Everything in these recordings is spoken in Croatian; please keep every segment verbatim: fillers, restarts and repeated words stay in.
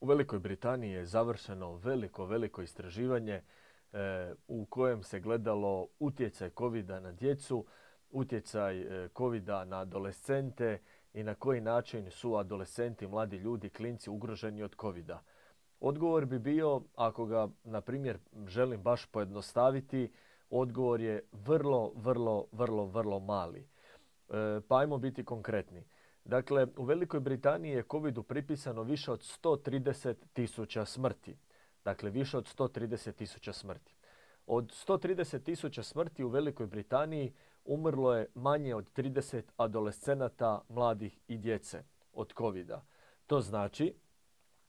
U Velikoj Britaniji je završeno veliko, veliko istraživanje e, u kojem se gledalo utjecaj kovida na djecu, utjecaj e, kovida na adolescente i na koji način su adolescenti, mladi ljudi, klinci ugroženi od kovida. Odgovor bi bio, ako ga, na primjer, želim baš pojednostaviti, odgovor je vrlo, vrlo, vrlo, vrlo mali. E, pa ajmo biti konkretni. Dakle, u Velikoj Britaniji je covidu pripisano više od sto trideset tisuća smrti. Dakle, više od sto trideset tisuća smrti. Od sto trideset tisuća smrti u Velikoj Britaniji umrlo je manje od trideset adolescenata, mladih i djece od covida. To znači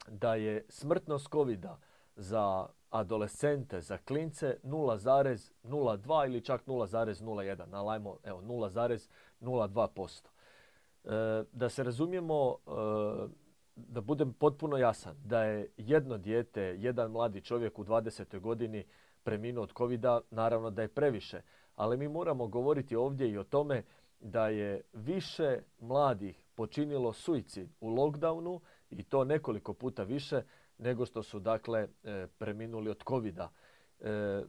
da je smrtnost covida za adolescente, za klince nula zarez nula dva ili čak nula zarez nula jedan, ali ajmo, evo, nula zarez nula dva posto. E, da se razumijemo, e, da budem potpuno jasan, da je jedno dijete, jedan mladi čovjek u dvadesetoj godini preminuo od covida, naravno da je previše. Ali mi moramo govoriti ovdje i o tome da je više mladih počinilo suicid u lockdownu i to nekoliko puta više nego što su dakle preminuli od covida. E,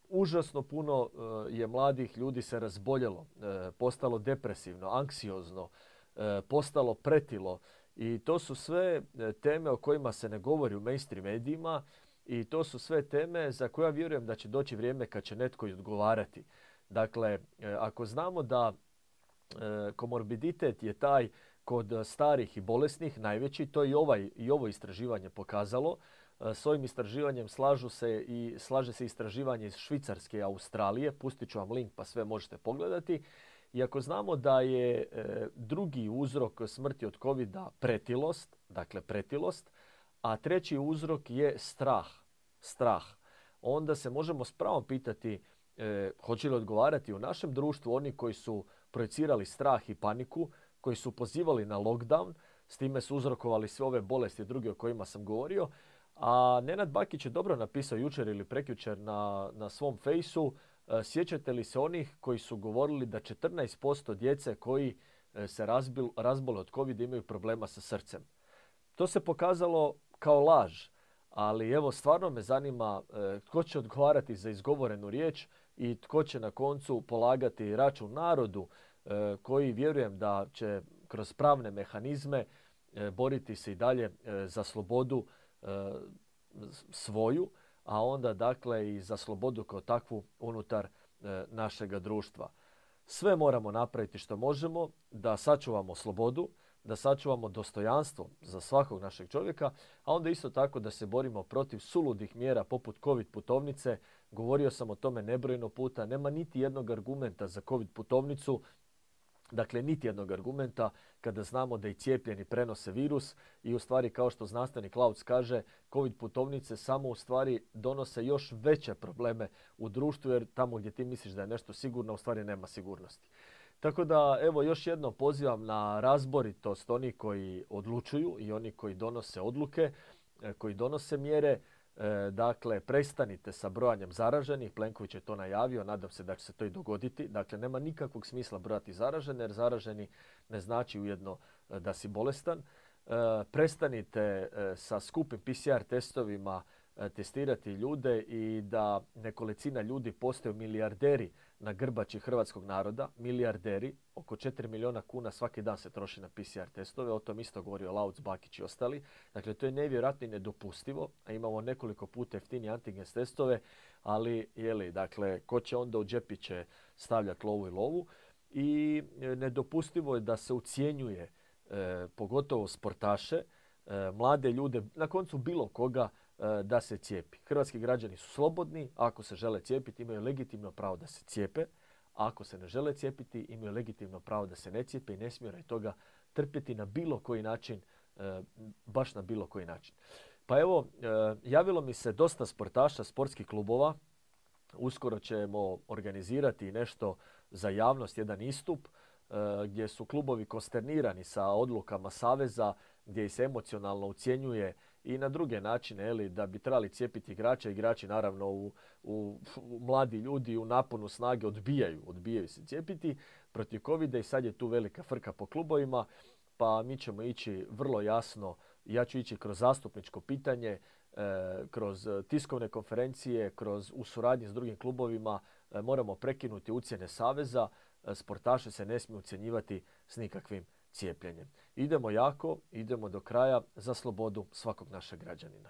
užasno puno je mladih ljudi se razboljelo, e, postalo depresivno, anksiozno, e, postalo pretilo i to su sve teme o kojima se ne govori u mainstream medijima i to su sve teme za koje ja vjerujem da će doći vrijeme kad će netko i odgovarati. Dakle, ako znamo da e, komorbiditet je taj kod starih i bolesnih najveći, to i, ovaj, i ovo istraživanje pokazalo. E, s ovim istraživanjem slažu se i, slaže se istraživanje iz Švicarske i Australije. Pustit ću vam link pa sve možete pogledati. I ako znamo da je e, drugi uzrok smrti od covida pretilost, dakle pretilost, a treći uzrok je strah, strah, onda se možemo s pravom pitati E, hoće li odgovarati u našem društvu oni koji su projicirali strah i paniku, koji su pozivali na lockdown, s time su uzrokovali sve ove bolesti i druge o kojima sam govorio. A Nenad Bakić je dobro napisao jučer ili prekjučer na, na svom fejsu, e, sjećate li se onih koji su govorili da četrnaest posto djece koji e, se razbil, razbole od covida imaju problema sa srcem. To se pokazalo kao laž, ali evo stvarno me zanima e, tko će odgovarati za izgovorenu riječ i tko će na koncu polagati račun narodu e, koji vjerujem da će kroz pravne mehanizme e, boriti se i dalje e, za slobodu e, svoju, a onda dakle i za slobodu kao takvu unutar e, našega društva. Sve moramo napraviti što možemo da sačuvamo slobodu, da sačuvamo dostojanstvo za svakog našeg čovjeka, a onda isto tako da se borimo protiv suludih mjera poput covid putovnice. Govorio sam o tome nebrojeno puta. Nema niti jednog argumenta za covid putovnicu. Dakle, niti jednog argumenta kada znamo da i cijepljeni prenose virus i u stvari, kao što znanstvenik Lauc kaže, covid putovnice samo u stvari donose još veće probleme u društvu, jer tamo gdje ti misliš da je nešto sigurno, u stvari nema sigurnosti. Tako da, evo, još jedno pozivam na razboritost onih koji odlučuju i oni koji donose odluke, koji donose mjere. E, dakle, prestanite sa brojanjem zaraženih. Plenković je to najavio, nadam se da će se to i dogoditi. Dakle, nema nikakvog smisla brojati zaražene, jer zaraženi ne znači ujedno da si bolestan. E, prestanite e, sa skupim P C R testovima e, testirati ljude i da nekolicina ljudi postaju milijarderi na grbači hrvatskog naroda, milijarderi, oko četiri milijuna kuna svaki dan se troši na P C R testove, o tom isto govorio Lauc, Bakić i ostali. Dakle, to je nevjerojatno i nedopustivo, a imamo nekoliko puta jeftinije antigen testove, ali, jeli, dakle, ko će onda u džepiće stavljati lovu i lovu. I nedopustivo je da se ucjenjuje, e, pogotovo sportaše, e, mlade ljude, na koncu bilo koga, da se cijepi. Hrvatski građani su slobodni, ako se žele cijepiti imaju legitimno pravo da se cijepe, a ako se ne žele cijepiti imaju legitimno pravo da se ne cijepe i ne smiju radi toga trpjeti na bilo koji način, baš na bilo koji način. Pa evo, javilo mi se dosta sportaša, sportskih klubova, uskoro ćemo organizirati nešto za javnost, jedan istup gdje su klubovi konsternirani sa odlukama saveza, gdje ih se emocionalno ucjenjuje i na druge načine, eli, da bi trebali cijepiti igrače. Igrači naravno u, u, u mladi ljudi u naponu snage odbijaju, odbijaju se cijepiti protiv covida i sad je tu velika frka po klubovima, pa mi ćemo ići vrlo jasno Ja ću ići kroz zastupničko pitanje, kroz tiskovne konferencije, kroz u suradnji s drugim klubovima. Moramo prekinuti ucjene saveza. Sportaše se ne smije ucjenjivati s nikakvim cijepljenjem. Idemo jako, idemo do kraja za slobodu svakog našeg građanina.